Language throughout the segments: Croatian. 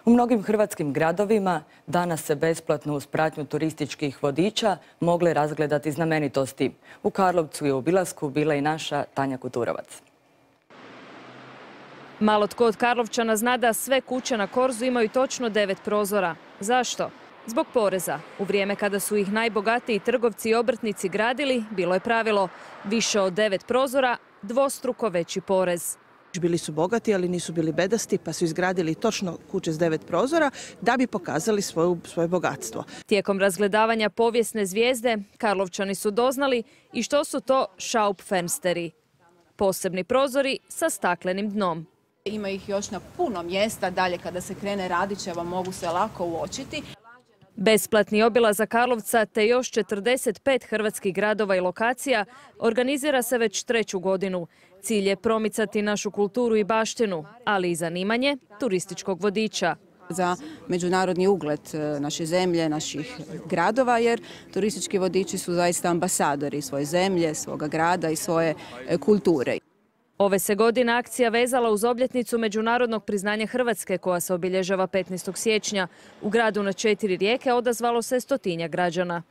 U mnogim hrvatskim gradovima danas se besplatno uz pratnju turističkih vodiča mogle razgledati znamenitosti. U Karlovcu i u obilasku bila i naša Tanja Kuturovac. Malo tko od Karlovčana zna da sve kuće na Korzu imaju točno 9 prozora. Zašto? Zbog poreza. U vrijeme kada su ih najbogatiji trgovci i obrtnici gradili, bilo je pravilo više od 9 prozora, dvostruko veći porez. Bili su bogati, ali nisu bili bedasti, pa su izgradili točno kuće s 9 prozora da bi pokazali svoje bogatstvo. Tijekom razgledavanja povijesne zvijezde, Karlovčani su doznali i što su to Schaufensteri. Posebni prozori sa staklenim dnom. Ima ih još na puno mjesta, dalje kada se krene Radićeva mogu se lako uočiti. Besplatni obilazak Karlovca te još 45 hrvatskih gradova i lokacija organizira se već 3. godinu. Cilj je promicati našu kulturu i baštinu, ali i zanimanje turističkog vodiča. Za međunarodni ugled naše zemlje, naših gradova, jer turistički vodiči su zaista ambasadori svoje zemlje, svoga grada i svoje kulture. Ove se godine akcija vezala uz obljetnicu međunarodnog priznanja Hrvatske koja se obilježava 15. siječnja. U gradu na 4 rijeke odazvalo se 100-tinjak građana.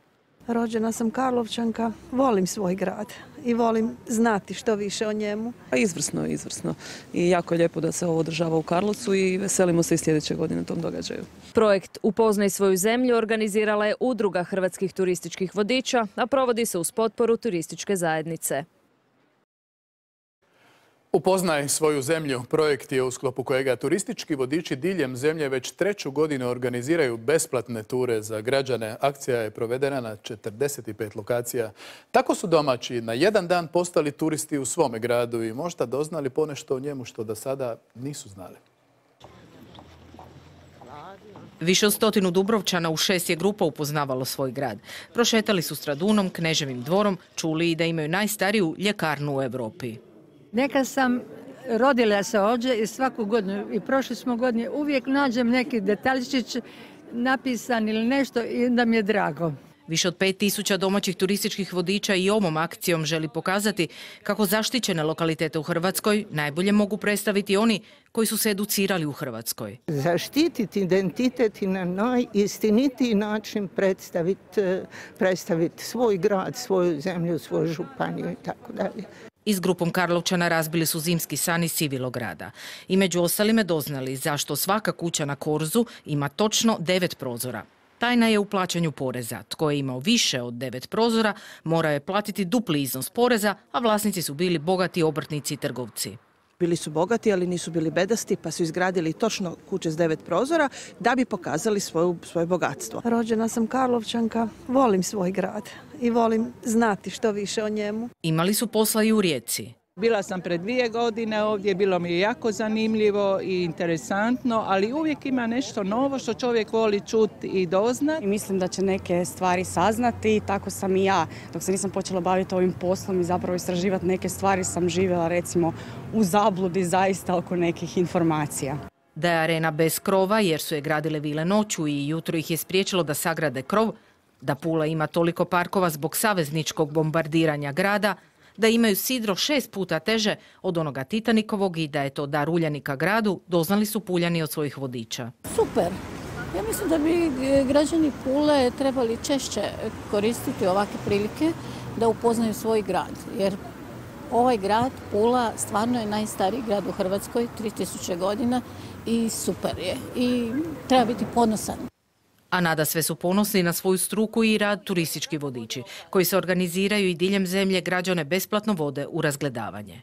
Rođena sam Karlovčanka, volim svoj grad i volim znati što više o njemu. Izvrsno, izvrsno. I jako je lijepo da se ovo održava u Karlovcu i veselimo se i sljedeće godine tom događaju. Projekt Upoznaj svoju zemlju organizirala je Udruga hrvatskih turističkih vodiča, a provodi se uz potporu turističke zajednice. Upoznaj svoju zemlju. Projekt je u sklopu kojega turistički vodiči diljem zemlje već 3. godinu organiziraju besplatne ture za građane. Akcija je provedena na 45 lokacija. Tako su domaći na jedan dan postali turisti u svome gradu i možda doznali ponešto o njemu što do sada nisu znali. Više od 100 Dubrovčana u 6 je grupa upoznavalo svoj grad. Prošetali su Stradunom, Kneževim dvorom, čuli i da imaju najstariju ljekarnu u Europi. Neka sam rodila se ovdje i svaku godinu i prošle smo godine uvijek nađem neki detaljčić napisan ili nešto i da mi je drago. Više od 5000 domaćih turističkih vodiča i ovom akcijom želi pokazati kako zaštićene lokalitete u Hrvatskoj najbolje mogu predstaviti oni koji su se educirali u Hrvatskoj. Zaštititi identitet i na najistinitiji način predstaviti svoj grad, svoju zemlju, svoju županiju i tako dalje. I s grupom Karlovčana razbili su zimski san iz Civilograda. I među ostalime doznali zašto svaka kuća na Korzu ima točno 9 prozora. Tajna je u plaćanju poreza. Tko je imao više od 9 prozora, morao je platiti dupli iznos poreza, a vlasnici su bili bogati obrtnici i trgovci. Bili su bogati, ali nisu bili bedasti, pa su izgradili točno kuće s 9 prozora da bi pokazali svoje bogatstvo. Rođena sam Karlovčanka, volim svoj grad i volim znati što više o njemu. Imali su posla i u Rijeci. Bila sam pred 2 godine ovdje, bilo mi je jako zanimljivo i interesantno, ali uvijek ima nešto novo što čovjek voli čuti i doznati. Mislim da će neke stvari saznati, tako sam i ja. Dok se nisam počela baviti ovim poslom i zapravo istraživati neke stvari, sam živjela recimo u zabludi zaista oko nekih informacija. Da je arena bez krova jer su je gradile vile noću i jutro ih je spriječilo da sagrade krov, da Pula ima toliko parkova zbog savezničkog bombardiranja grada, da imaju sidro 6 puta teže od onoga Titanikovog i da je to dar Uljanika gradu, doznali su Puljani od svojih vodiča. Super. Ja mislim da bi građani Pule trebali češće koristiti ovakve prilike da upoznaju svoj grad. Jer ovaj grad, Pula, stvarno je najstariji grad u Hrvatskoj, 3000 godina i super je. I treba biti ponosan. A nadasve su ponosni na svoju struku i rad turistički vodiči, koji se organiziraju i diljem zemlje građane besplatno vode u razgledavanje.